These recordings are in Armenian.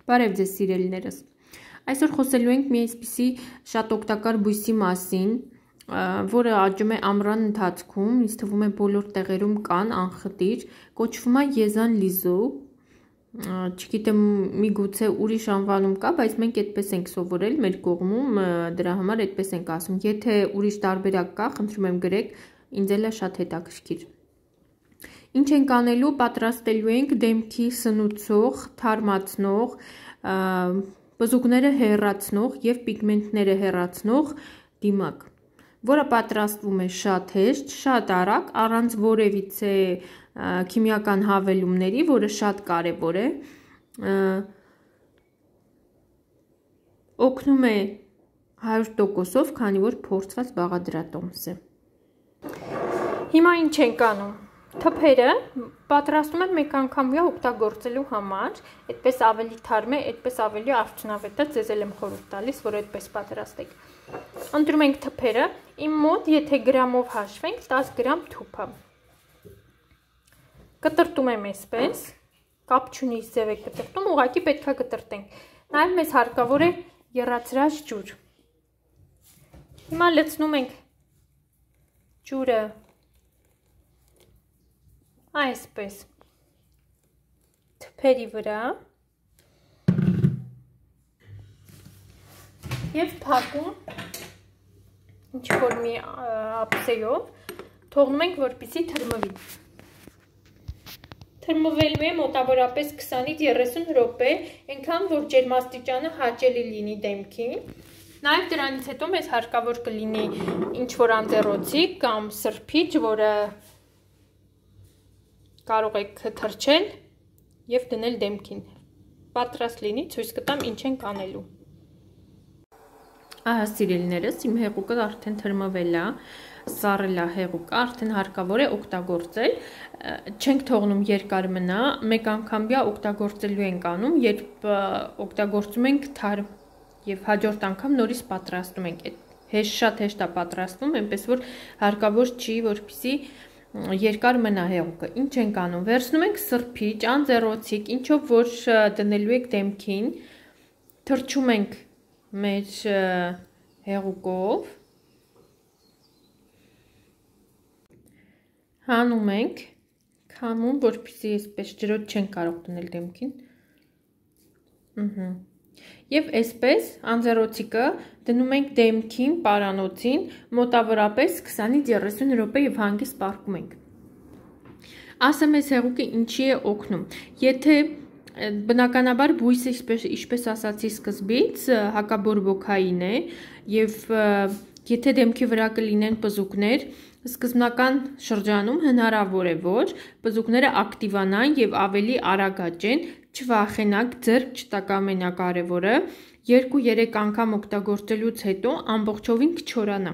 Բարև ձեզ սիրելիներս։ Այսօր խոսելու ենք մի այսպիսի շատ օգտակար բույսի մասին, որը աճում է ամռան ընթացքում, ինձ թվում է բոլոր տեղերում կան, անխտիր, կոչվում է եզան լիզու, չգիտեմ միգուցե ուրիշ անվանում կա, բայց մենք այդպես ենք սովորել մեր կողմում, դրա համար այդպես ենք ասում, եթե ուրիշ տարբերակ կա, խնդրում եմ գրեք, ինձ էլ է շատ հետաքրքիր։ Ինչ ենք անելու, պատրաստելու ենք դեմքի սնուցող, թարմացնող, բզուկները հեռացնող և պիգմենտները հեռացնող դիմակ, որը պատրաստվում է շատ հեշտ, շատ արագ, առանց որևիցե քիմիական հավելումների, որը շատ կարևոր է, օգնում է 100%-ով, քանի որ փորձված բաղադրատոմս է։ Հիմա ինչ ենք անում։ Թփերը պատրաստում եմ մեկ անգամվա օգտագործելու համար, այդպես ավելի թարմ է, այդպես ավելի արդյունավետ է, ձեզ էլ եմ խորհուրդ տալիս, որ այդպես պատրաստեք։ Ընտրում ենք թփերը, իմ մոտ, եթե գրամով հաշվենք, 10 գրամ թուփ է։ Կտրտում եմ այսպես, կապ չունի ձև է կտրտում, ուղղակի պետք է կտրտենք։ Նաև մեզ հարկավոր է եռացրած ջուր։ Հիմա լցնում ենք ջուրը այսպես թփերի վրա և փակում ինչ-որ մի ափսեով, թողնում ենք, որպեսզի թրմվի։ Թրմվելու է մոտավորապես 20-ից 30 րոպե, այնքան որ ջերմաստիճանը հաճելի լինի դեմքին։ Նաև դրանից հետո մեզ հարկավոր կլինի ինչ-որ անձեռոցիկ կամ սրբիչ, որը կարող եք թրջել և դնել դեմքին։ Պատրաստ լինի, ցույց կտամ ինչ ենք անելու։ Ահա սիրելիներս, իմ հեղուկը արդեն թրմվել է, սառել է հեղուկը, արդեն հարկավոր է օգտագործել, չենք թողնում երկար մնա, մեկ անգամվա օգտագործելու ենք անում, երբ օգտագործում ենք թարմ և հաջորդ անգամ նորից պատրաստում ենք, շատ հեշտ է պատրաստվում, այնպես որ հարկավոր չի, որպեսզի երկար մնա հեղուկը։ Ինչ ենք անում, վերցնում ենք սրբիչ, անձեռոցիկ, ինչով որ դնելու եք դեմքին, թրջում ենք մեր հեղուկով, հանում ենք, քամում, որպեսզի այսպես ջրոտ չենք կարող դնել դեմքին, և այսպես անձեռոցիկը դնում ենք դեմքին, պարանոցին, մոտավորապես 20-ից 30 րոպե և հանգիստ պառկում ենք։ Ասեմ այս հեղուկը ինչի է օգնում։ Եթե բնականաբար բույսը, ինչպես ասացի սկզբից, հակաբորբոքային է և եթե դեմքի վրա կլինեն պզուկներ, սկզբնական շրջանում հնարավոր է, որ պզուկները ակտիվանան և ավելի արագ աճեն, չվախենաք, ձեռք չտաք ամենակարևորը, 2-3 անգամ օգտագործելուց հետո ամբողջովին կչորանա։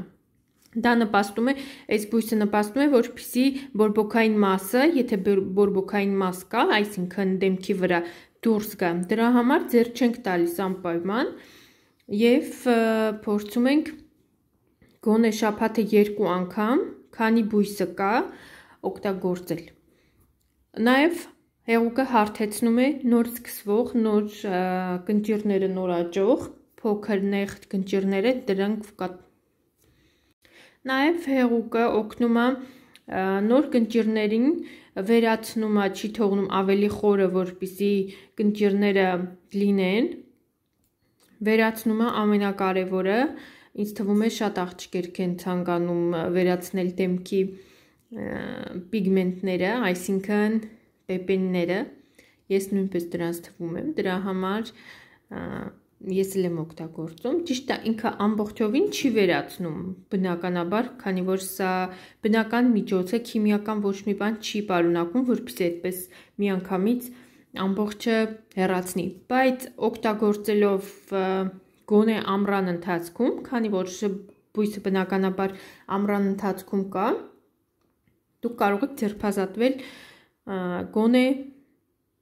Դա նպաստում է, այս բույսը նպաստում է, որպեսզի բորբոքային մասը, եթե բորբոքային մաս կա, այսինքն դեմքի վրա դուրս գա, դրա համար ձեռք չենք տալիս անպայման և փորձում ենք գոնե շաբաթը 2 անգամ, քանի բույսը կա, օգտագործել։ Նաև հեղուկը հարթեցնում է նոր սկսվող, նոր կնճիռները նոր աճող, փոքր նեղ կնճիռները դրանք Նաև հեղուկը օգնում է նոր կնճիռներին վերացնում է, չի թողնում ավելի խորը, որպեսզի կնճիռները լինեն, վերացնում է ամենակարևորը, ինձ թվում է շատ աղջիկներ են ցանկանում վերացնել դեմքի պիգմենտները, այսինքն պեպենները, ես նույնպես դրանց թվում եմ, դրա համար ես էլ եմ օգտագործում, ճիշտ է ինքը ամբողջովին չի վերացնում, բնականաբար, քանի որ սա բնական միջոց է, քիմիական ոչ մի բան չի պարունակում, որպեսզի այդպես միանգամից ամբողջը հեռացնի, բայց օգտագործելով գոնե ամռան ընթացքում, քանի որ բույսը բնականաբար ամռան ընթացքում կա, դուք կարող եք ձերբազատվել գոնե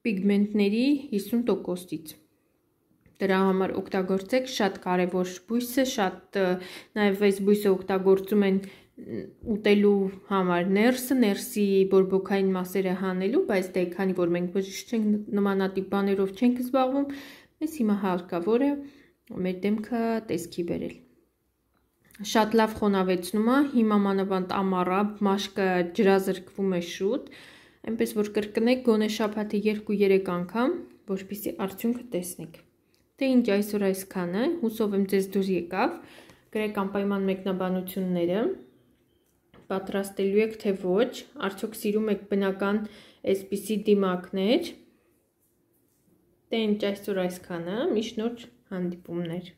պիգմենտների 50%-ից։ Դրա համար օգտագործեք, շատ կարևոր բույս է, շատ նաև այս բույսը օգտագործում են ուտելու համար ներսի բորբոքային մասերը հանելու, բայց դե քանի որ մենք բժիշկ չենք, նմանատիպ բաներով չենք զբաղվում, Այս հիմա հարկավոր է մեր դեմքը տեսքի բերել։ Շատ լավ խոնավեցնում է, հիմա մանավանդ ամառ է, մաշկը ջրազրկվում է շուտ, այնպես որ կրկնեք գոնե շաբաթի 2-3 անգամ, որպեսզի արդյունքը տեսնեք։ Դե ինչ այսօր այսքանը, հուսով եմ ձեզ դուր եկավ, գրեք անպայման մեկնաբանությունները, պատրաստելու եք թե ոչ, արդյոք սիրում եք բնական այսպիսի դիմակներ։ Դե ինչ այսօր այսքանը, միշտ նոր հանդիպումներ։